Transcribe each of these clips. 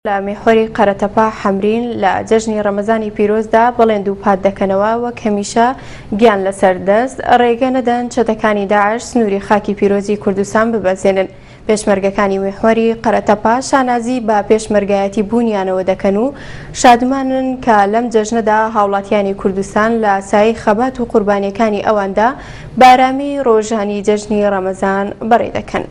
لە میحوەری قەرەتەپە حەمرین لە جەژنی ڕەمەزانی پیرۆزدا بەڵێن دووپات دەکەنەوە وەک هەمیشە گیان لەسەر دەست ڕێگە نەدەن چەتەکانی داعش سنووری خاکی پیرۆزی کوردستان ببەزێنن. پێشمەرگەکانی میحوەری قەرەتەپە شانازی بە پێشمەرگایەتی بوونیانەوە دەکەن و شادمانن کە لەم جەژنەدا هاوڵاتیانی کوردستان لە سایەی خەبات و قوربانیەکانی ئەواندا بە ئارامی ڕۆژانی جەژنی ڕەمەزان بەڕێ دەکەن.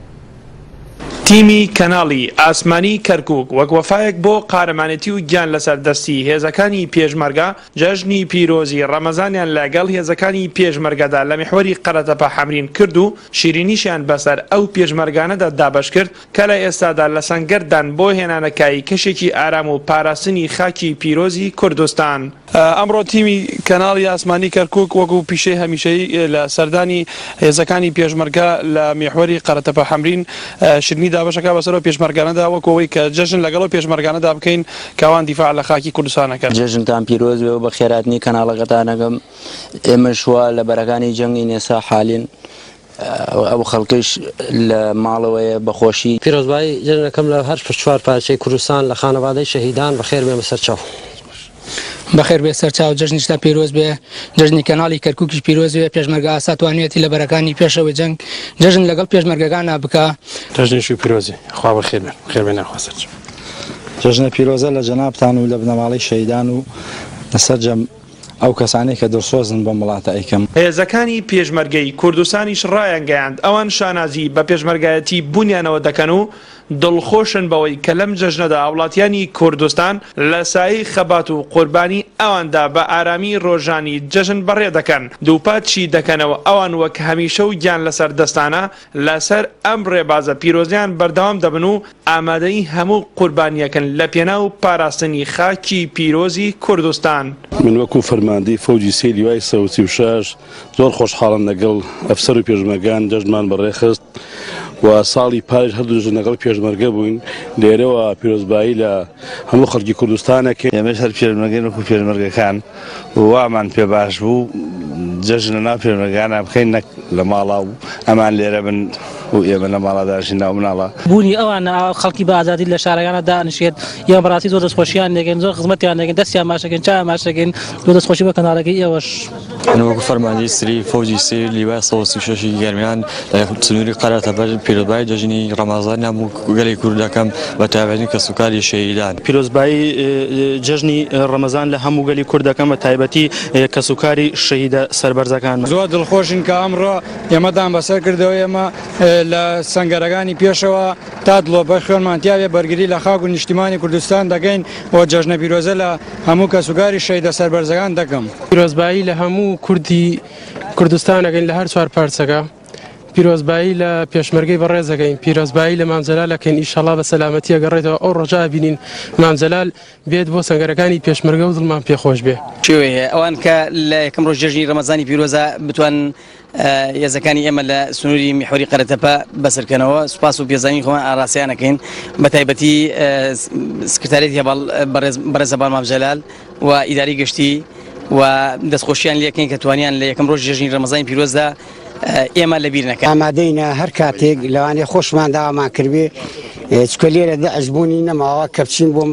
تیمی کەناڵی ئاسمانی کەرکوک وەک وەفایەک بۆ قارەمانێتی و گیان لەسەر دەستی هێزەکانی پێشمەرگە جەژنی پیرۆزی ڕەمەزانیان لە گەڵ هێزەکانی پێشمەرگەدا لە میحوەری قەرەتەپە حەمرین کرد و شیرینیشیان بەسەر ئەو پێشمەرگانەدا دابەش کرد کە لە ئێستادا لە سەنگەردان بۆ هێنانەکایی کەشێکی ئارام و پاراستنی خاکی پیرۆزی کوردستان. ئەمڕۆ تیمی کەناڵی ئاسمانی کەرکوک وەکو پیشەی هەمیشەیی لە سەردانی هێزەکانی پێشمەرگە لە میحوەری قەرەتەپە حەمرین شیرینی دابەشەکا بەسەر ئەو پێشمەرگانەدا وەکو ئەوەی کە جەژن لەگەڵ ئەو پێشمەرگانەدا بکەین کە ئەوان دیفاع لە خاکی کوردستان ئەکەن. جەژنتان پیرۆز بێ و بەخێرهاتنی کەناڵەکەتان ئەکەم ئێمەش وا لە بەرەکانی جەنگین ئێستا حالین ئەو خەڵکەیش لە ماڵەوەیە بە خۆشی. پیرۆزبایی جەژنەکەم لە هەر چوار پارچەی کوردستان لە خانەوادەی شەهیدان بەخێر بێمە سەر چاو. بەخێر بێ سەرچاو جەژنیشتان پیرۆز بێ جەژنی کەناڵی کەرکوکیش پیرۆز بێ پێشمەرگە ئاسا توانیەتی لە بەرەکانی پێشەوەی جەنگ جەژن لەگەڵ پێشمەرگەکانا بکا. جەژنیشی پیرۆزی خوا بەخێر بێن بەخێر بێن یاخوا سەرچاو. جەژنە پیرۆزە لە جەنابتان و لە بنەماڵەی شەهیدان و لە سەرجەم ئەو کەسانەی کە دڵسۆزن بەم وڵاتە ئەیکەم. هێزەکانی پێشمەرگەی کوردستانیش ڕایانگەیاند، ئەوان شانازی بە پێشمەرگایەتی بوونیانەوە دەکەن و دڵخۆشن بەوەی کە لەم جەژنەدا هاوڵاتیانی کوردستان لە سایەی خەبات و قوربانی ئەواندا بە ئارامی ڕۆژانی جەژن بەڕێ دەکەن، دووپاتشی دەکەنەوە ئەوان وەک هەمیشە و گیان لەسەر دەستانە لەسەر ئەم ڕێبازە پیرۆزەیان بەردەوام دەبن و ئامادەی هەموو قوربانییەکن لە پێناو پاراستنی خاکی پیرۆزی کوردستان. من وەکو فەرماندەی فەوجی سێی لیوای 136 زۆر خۆشحاڵم لەگەڵ ئەفسەر و پێشمەرگان جەژنمان بەڕێخست و ساڵی پاریش هەردوو جەژن لەگەڵ پێشمەرگە بووین، لێرەوە پیرۆزبایی لە هەموو خەڵکی کوردستان ئەکەین. ئێمەش هەر پێشمەرگەین وەکو پێشمەرگەکان و وامان پێ باش بوو جەژن لەناو پێشمەرگەکانا بکەین نەک لە ماڵا و ئەمان لێرە بن و ئێمە لە ماڵا دانیشین ناو مناڵا. بوونی ئەوان خەڵکی بە ئازادی لە شارەکانا دانیشێت ئێمە بەڕاستی زۆر دەستخۆشیان لێکەین زۆر خزمەتیان لێکەین دەستیان ماچ دەکەین چاویان ماچ دەکەین زۆر دەستخۆشی بۆ کەناڵەکەی ئێوەش. من وەکو فەرماندەی سری فەوجی سێ لیوای 136 ی گەرمیان لە سنووری قەرەتەپە پیرۆزبایی جەژنی ڕەمەزانی هەموو گەلی کورد دەکەم بە تایبەتی کەسوکاری شەهیدان. پیرۆزبایی جەژنی ڕەمەزان لە هەموو گەلی کورد دەکەم بە تایبەتی کەسوکاری شەهیدە سەربەرزەکانمان. زۆر دڵخۆشین کە ئەمڕۆ ئێمەتان بەسەر کردەوە، ئێمە لە سەنگەرەکانی پێشەوە تا دڵۆپەی خوێنمان تیابێ بەرگری لە خاک و نیشتیمانی کوردستان دەکەین و جەژنە پیرۆزە لە هەموو کەسوکاری شەهیدە سەربەرزەکان دەکەم. پیرۆزبایی لە هەموو کوردی کوردستان ئەکەین لە هەر چوار پارچەکە، پیرۆزبایی لە پێشمەرگەی بەڕێز ئەکەین، پیرۆزبایی لە مام جەلال ئەکەین، ئیشەڵا بە سەلامەتی ئەگەڕێتەوە ئەو ڕۆژە ئەبینین مام جەلال بێت بۆ سەنگەرەکانی پێشمەرگە و دڵمان پێ خۆش بێ. شێوەی هەیە ئەوان کە لە یەکەم ڕۆژ جەژنی ڕەمەزانی پیرۆزە بتوانن هێزەکانی ئێمە لە سنووری میحوەری قەرەتەپە بەسەرکەنەوە سوپاس و پێزانین خۆمان ئاراستەیان ئەکەین بە تایبەتی سکرتاریەتی هەڤاڵ بەڕێز هەڤاڵ مام جەلال و ئیداری گشتی و دەستخۆشیان لێکەین کە توانیان لە یەکەم ڕۆژ جەژنی ڕەمەزانی پیرۆزدا ئێمە لەبیر نەکەن. ئامادەینە هەر کاتێک لەوانەیە خۆشمان داوامان کردبێ چونکە لێرە داعش بوونی نەماوە کە بچین بۆ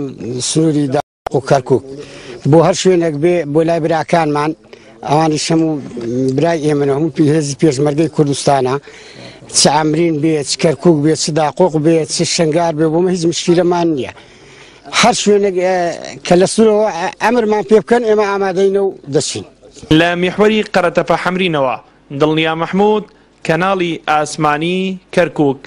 سنووری داق و کەرکوک بۆ هەر شوێنێک بێ بۆ لای براکانمان ئەوانیش هەموو برای ئێمەن و هەموو هێزی پێشمەرگەی کوردستانە چ عەمرین بێ چ کەرکوک بێ چ داقۆق بێ چ شنگار بێ بۆ هیچ مشکیلەمان نییە هەر شوێنێک کە لە سورەوە ئەمرمان پێ بکەن ئێمە ئامادەینە و دەچین. لە میحوەری قەرەتەپە حەمرینەوە، دڵنیا مەحمود، کەناڵی ئاسمانی کەرکوک.